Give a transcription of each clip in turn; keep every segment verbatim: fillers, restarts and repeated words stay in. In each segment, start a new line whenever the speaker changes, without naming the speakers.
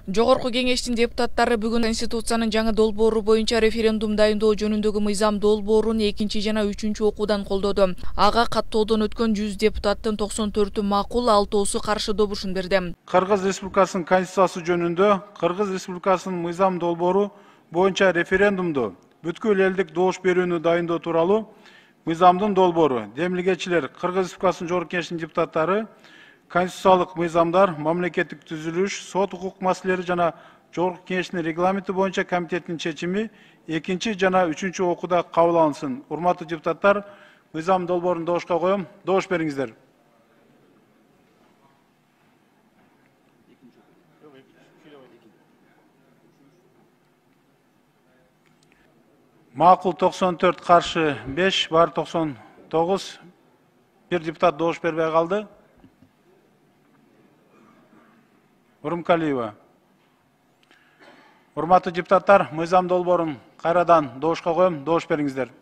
Жогорку кеңештин депутаттары бүгүн Конституциянын жаңы долбоору боюнча референдум дайындоо жөнүндөгү мыйзам долбоорун экинчи жана үчүнчү окуудан колдоду. Ага каттоодон өткөн жүз депутаттын токсон төртү макул, алтоосу каршы добушун берди.
Кыргыз Республикасынын Конституциясы жөнүндө Кыргыз Республикасынын мыйзам долбоору боюнча референдумду бүткүл элдик добуш берүүнү дайындоо тууралуу мыйзамдын долбоору. Демилгечилер, Кыргыз Республикасынын Жогорку Кеңештин депутаттары конституциялык мыйзамдар, мамлекеттик түзүлүш, сот укук маселелери жана Жогорку Кеңештин регламенти боюнча комитеттин чечими экинчи жана үчүнчү окууда кабыл алынсын. Урматтуу депутаттар, мыйзам долбоорун добушка коем. Добуш бериңиздер. Макул токсон төрт, каршы беш, бар токсон тогуз. Бир депутат добуш бербей калды. Урумкалиева. Урматтуу депутаттар, мыйзам долбоорун кайрадан добушка коем. Добуш бериңиздер.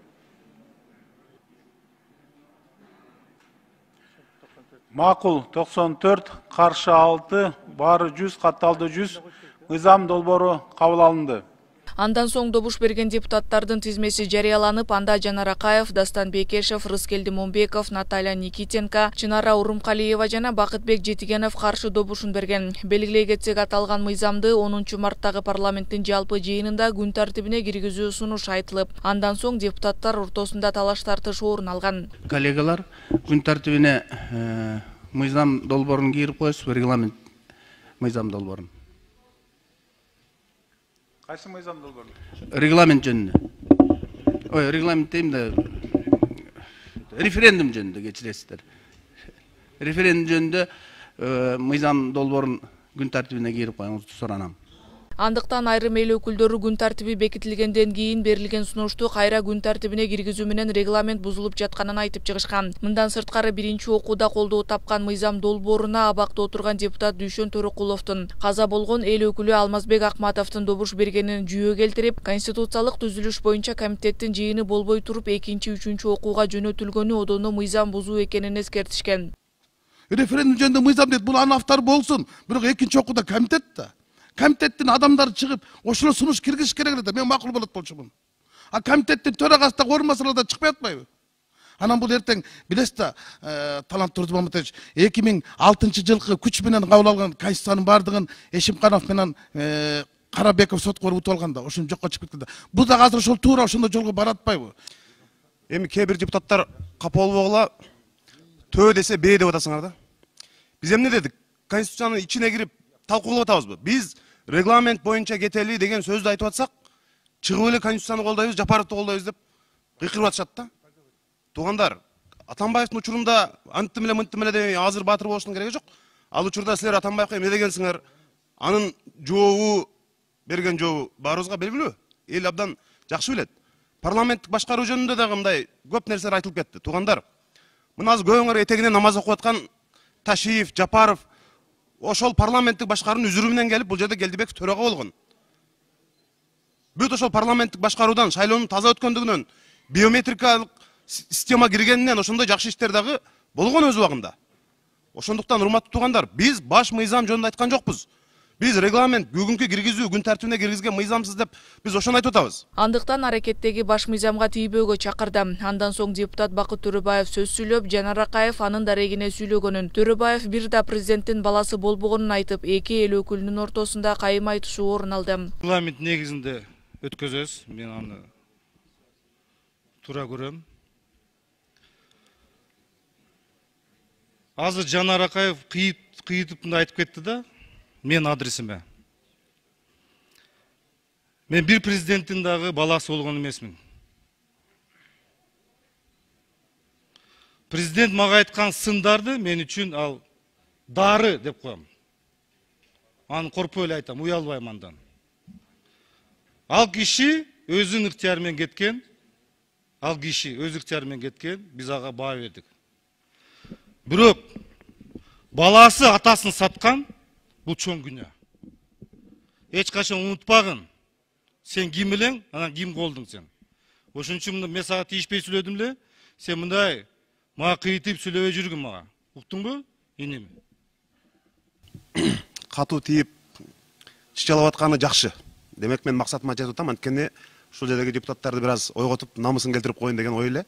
Макул токсон төрт, каршы алты, баары жүз, катталды жүз. Мыйзам долбоору кабыл алынды.
Андан соң добуш берген депутаттардын тизмеси жарыяланып, анда Жанар Акаев, Дастан Бекешев, Рыскелди Момбеков, Наталья Никитенко, Чынара Урумкалиева жана Бакытбек Жетигенов каршы добушун берген. Белгилей кетсек, аталган мыйзамды онунчу марттагы парламенттин жалпы жыйынында күн тартибине киргизүү сунуш айтылып, андан соң депутаттар ортосунда талаш тартыш орун алган.
Коллегалар, күн тартибине мыйзам долбоорун кирип коесузбу, регламент мыйзам долбоорун.
Кайсы мыйзам долбоору?
Регламент жөнүндө. Ой, регламент дейм да, референдум жөнүндө кечиресиздер. Референдум жөнүндө мыйзам долбоорун күн тартибине кирип коюңузду суранам.
Андыктан айрым эл өкүлдөрү күн тартиби бекитилгенден кийин берилген сунушту кайра күн тартибине киргизүү менен регламент бузулуп жатканын айтып чыгышкан. Мындан сырткары биринчи окууда колдоо тапкан мыйзам долбооруна абакта отурган депутат Дүйшөн Төрөкуловдун, каза болгон эл өкүлү Алмазбек Акматовдун добуш бергенин жүйө келтирип, конституциялык түзүлүш боюнча комитеттин жыйыны болбой туруп экинчи үчүнчү окууга жөнөтүлгөнү одоно мыйзам бузуу экенин эскертишкен.
Референдум жөнүндө мыйзам дейт, бул анын автору болсун, бирок экинчи окууда комитет да. Комитеттин адамдары чыгып, ошону сунуш киргизиш керек да, мен макул болот болчумун. А комитеттин төрагасы да оор маселада чыкпай атпайбы? Анан бул эртең билесиз да, Талант Турдумаматович, эки миң алтынчы жылкы күч менен кабыл алган Конституциянын бардыгын Эшимканов менен Карабеков сотко барып утуп алганда, ошону жокко чыгып кетти да. Бул да азыр ошол туура ошондой жолго бара атпайбы?
Эми кээ бир депутаттар капа болбогула, төө десе бээ деп атасыңар да. Биз эмне дедик? Конституциянын ичине кирип талкуулап атабызбы? Биз регламент боюнча кетели деген сөздү айтып атсак, чыгып эле Конституцияны колдойбуз, Жапаровду колдойбуз деп кыйкырып атышат да. Туугандар, Атамбаевдин учурунда анттым эле мынттым эле деп азыр баатыр болуштун кереги жок. Ал учурда силер Атамбаевка эмне дегенсиңер? Анын жообу, берген жообу баарыбызга белгилүү. Эл абдан жакшы билет. Парламенттик башкаруу жөнүндө дагы мындай көп нерселер айтылып кетти. Туугандар, мына азыр көбүңөр этегинен намаз окуп аткан Ташиев, Жапаров ошол парламенттик башкаруунун үзүрү менен келип, бул жерде Келдибеков төрага болгон. Бүт ошол парламенттик башкаруудан, шайлоонун таза өткөндүгүнөн, биометрикалык система киргенинен ошондой жакшы иштер дагы болгон өз убагында. Ошондуктан, урматтуу туугандар, биз баш мыйзам жөнүндө айткан жокпуз. Биз регламент бүгүнкү киргизүү, күн тартибине киргизген мыйзамсыз деп биз ошону айтып атабыз.
Андыктан аракеттеги баш мыйзамга тийбөөгө чакырды. Андан соң депутат Бакыт Төрөбаев сөз сүйлөп, Жанар Акаев анын дарегине сүйлөгөнүн, Төрөбаев бир да президенттин баласы болбогонун айтып, эки эл өкүлүнүн ортосунда кайым айтышуу орун алды.
Регламент негизинде өткөзөбүз. Мен аны туура көрөм. Азыр Жанар Акаев кыйытып мындай айтып кетти да, мен адресиме. Мен бир президенттин дагы баласы болгон эмесмин. Президент мага айткан сындарды мен үчүн ал дары деп коем. Аны коркпой эле айтам, уялбайм андан. Ал киши өзүнүн ыктыяры менен кеткен. Ал киши өз ыктыяры менен кеткен, биз ага баа бердик. Бирок баласы атасын саткан, бул чоң күнөө. Эч качан унутпагын. Сен ким элең, анан ким колдуң сен. Ошон үчүн мен сага тийишпей сүйлөдүм эле. Сен мындай мага кыйтып сүйлөбөй жүргүн мага. Уктуңбу? Инем.
Катуу тийип чычалап атканы жакшы. Демек мен максатыма жетип атам, анткени ушул жердеги депутаттарды бир аз ойготуп, намысын келтирип коеюн деген ой эле.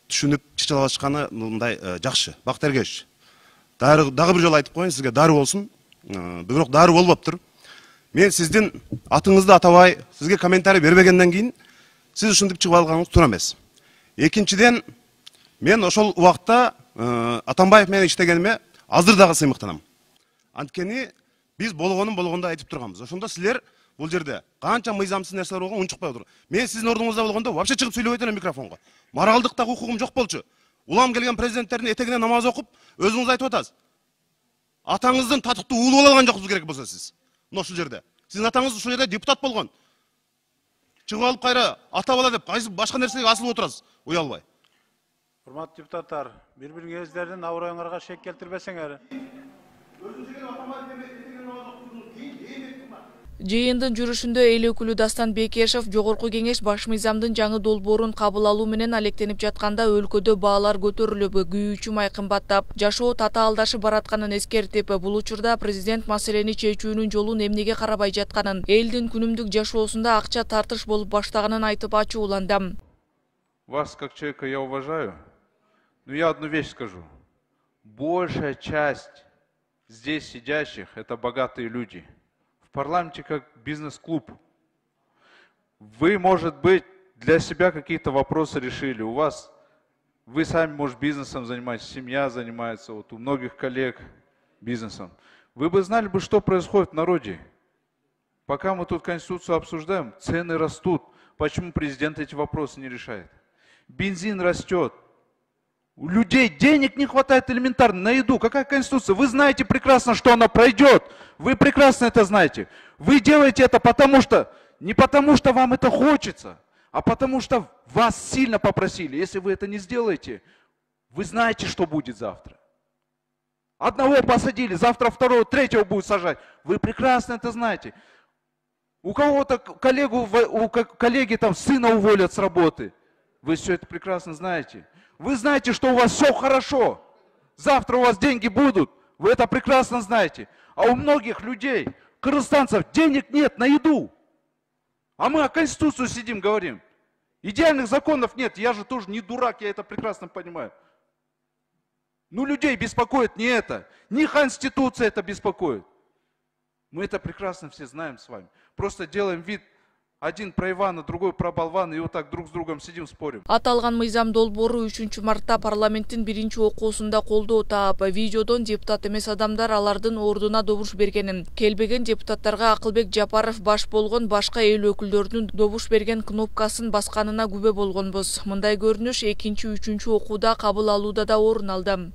Түшүнүп чычалап атышканы мындай жакшы. Бакыт Эргешевич, дагы бир жолу айтып коеюн, сизге дары болсун. Бирок дары болбоптур. Мен сиздин атыңызды атабай, сизге комментарий бербегенден кийин сиз ушинтип чыгып алганыңыз туура эмес. Экинчиден, мен ошол убакта Атамбаев менен иштегениме азыр дагы сыймыктанам. Анткени биз болгонун болгондо айтып турганбыз. Ошондо силер бул жерде канча мыйзамсыз нерселер болгон унчукпай отур. Мен сиздин ордуңузда болгондо вообще чыгып сүйлөбөйт элем микрофонго. Маралдыктагы укугум жок болчу. Улам келген президенттердин этегине намаз окуп, өзүңүз айтып атасыз. Атаңыздын татыктуу уулу боло алган жоксуз керек болсо сиз. Ушул жерде. Сиздин атаңыз ушул жерде депутат болгон. Чыгып алып кайра ата бала деп кайсы башка нерсеге асылып отурасыз, уялбай.
Урматтуу депутаттар, бири-бириңиздердин аброюңарга шек келтирбесеңер.
Жыйындын жүрүшүндө эл өкүлү Дастан Бекешев Жогорку Кеңеш баш мыйзамдын жаңы долбоорун кабыл алуу менен алектенип жатканда өлкөдө баалар көтөрүлүп, күйүүчү май кымбаттап, жашоо татаалдашып баратканын эскертип, бул учурда президент маселени чечүүнүн жолун эмнеге карабай жатканын, элдин күнүмдүк жашоосунда акча тартыш болуп баштаганын айтып ачууланды.
Вас как человека я уважаю, но я одну вещь скажу. Большая часть здесь сидящих – это богатые люди. В парламенте как бизнес-клуб. Вы, может быть, для себя какие-то вопросы решили. У вас, вы сами, может, бизнесом занимаетесь, семья занимается, вот у многих коллег бизнесом. Вы бы знали, бы, что происходит в народе. Пока мы тут Конституцию обсуждаем, цены растут. Почему президент эти вопросы не решает? Бензин растет. У людей денег не хватает элементарно на еду. Какая Конституция? Вы знаете прекрасно, что она пройдет. Вы прекрасно это знаете. Вы делаете это потому что, не потому что вам это хочется, а потому что вас сильно попросили. Если вы это не сделаете, вы знаете, что будет завтра. Одного посадили, завтра второго, третьего будут сажать. Вы прекрасно это знаете. У кого-то коллегу, у коллеги там сына уволят с работы. Вы все это прекрасно знаете. Вы знаете, что у вас все хорошо. Завтра у вас деньги будут. Вы это прекрасно знаете. А у многих людей, кыргызстанцев, денег нет на еду. А мы о Конституции сидим, говорим. Идеальных законов нет. Я же тоже не дурак, я это прекрасно понимаю. Ну, людей беспокоит не это. Не Конституция это беспокоит. Мы это прекрасно все знаем с вами. Просто делаем вид. Один про Ивана, другой про болвана, и вот так друг с другом сидим, спорим.
Аталган мыйзам долбоору үчүнчү мартта парламенттин биринчи окуусунда колдоо таап, видеодон депутат эмес адамдар алардын ордуна добуш бергенин, келбеген депутаттарга Акылбек Жапаров баш болгон башка эл өкүлдөрүнүн добуш берген кнопкасын басканына күбө болгонбуз. Мындай көрүнүш экинчи, үчүнчү окууда кабыл алууда да орун алды.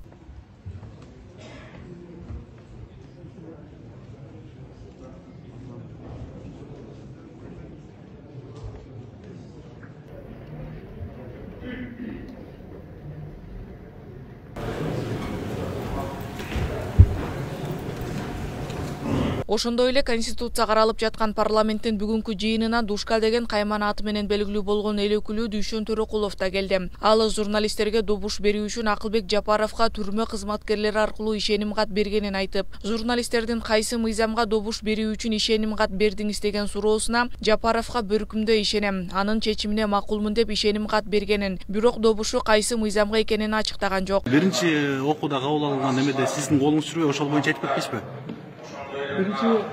Ошондой эле Конституция каралып жаткан парламенттин бүгүнкү жыйынына Душка деген кайман аты менен белгилүү болгон эл өкүлү Дүйшөн Төрөкулов да келди. Ал журналисттерге добуш берүү үчүн Акылбек Жапаровго түрмө кызматкерлери аркылуу ишеним кат бергенин айтып, журналисттердин кайсы мыйзамга добуш берүү үчүн ишеним кат бердиңиз деген суроосуна Жапаровго бөркүмдө ишенем, анын чечимине макулмун деп ишеним кат бергенин, бирок добушу кайсы мыйзамга экенин ачыктаган жок.
Биринчи окууда кабыл алынган эмеде сиздин колуңуз жүрбөй, ошол боюнча айтып кетпейсизби?
Биринчи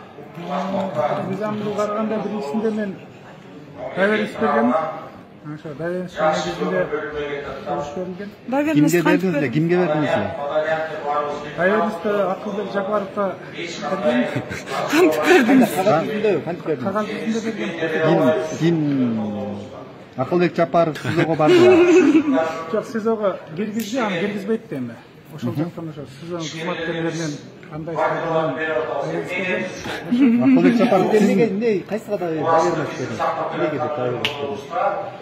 мыйзамды караганда биринчисинде мен доверенность бергем. Ошо доверенность негизинде добуш берилген.
Кимге бердиңиз? Кимге бердиңиз?
Доверенность Акылбек Жапаровго берген.
Кантип бердиңиз? Кантип бердиңиз?
Кагаз жүзүндө берген.
Ким? Акылбек Жапаров СИЗОго бардыбы?
Жок, СИЗОго киргизди, аны киргизбейт да эми. Ошол жактан ошо СИЗОнун кызматкерлеринен кандай истегенин
Акылбек Жапаров эмнеге эмне кайсыга да доверенность бердиңиз? Эмнеге деп доверенность бердиңиз?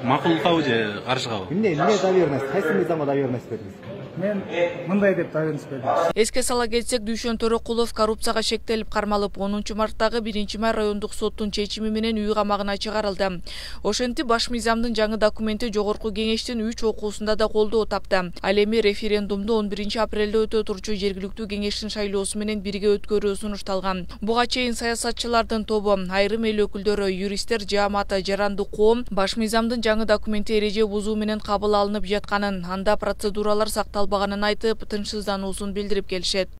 Макулдукабы же каршыгабы? Эмне эмне доверенность? Кайсы мыйзамга доверенность бердиңиз?
мен мындай деп байланыш бердим.
Эске сала кетсек, Дүйшөн Төрөкулов коррупцияга шектелип кармалып, онунчу марттагы биринчи май райондук соттун чечими менен үй камагына чыгарылды. Ошентип, баш мыйзамдын жаңы документи жогорку кеңештин үч окуусунда да колдоо тапты. Ал эми референдумду он биринчи апрелде өтө турчу жергиликтүү кеңештин шайлоосу менен бирге өткөрүү сунушталган. Буга чейин саясатчылардын тобу, айрым эл өкүлдөрү, юристтер жааматы, жаранды коом баш мыйзамдын жаңы документи эреже бузуу менен кабыл алынып жатканын, анда процедуралар сакталбаганын айтып, тынчсыздануусун билдирип келишет.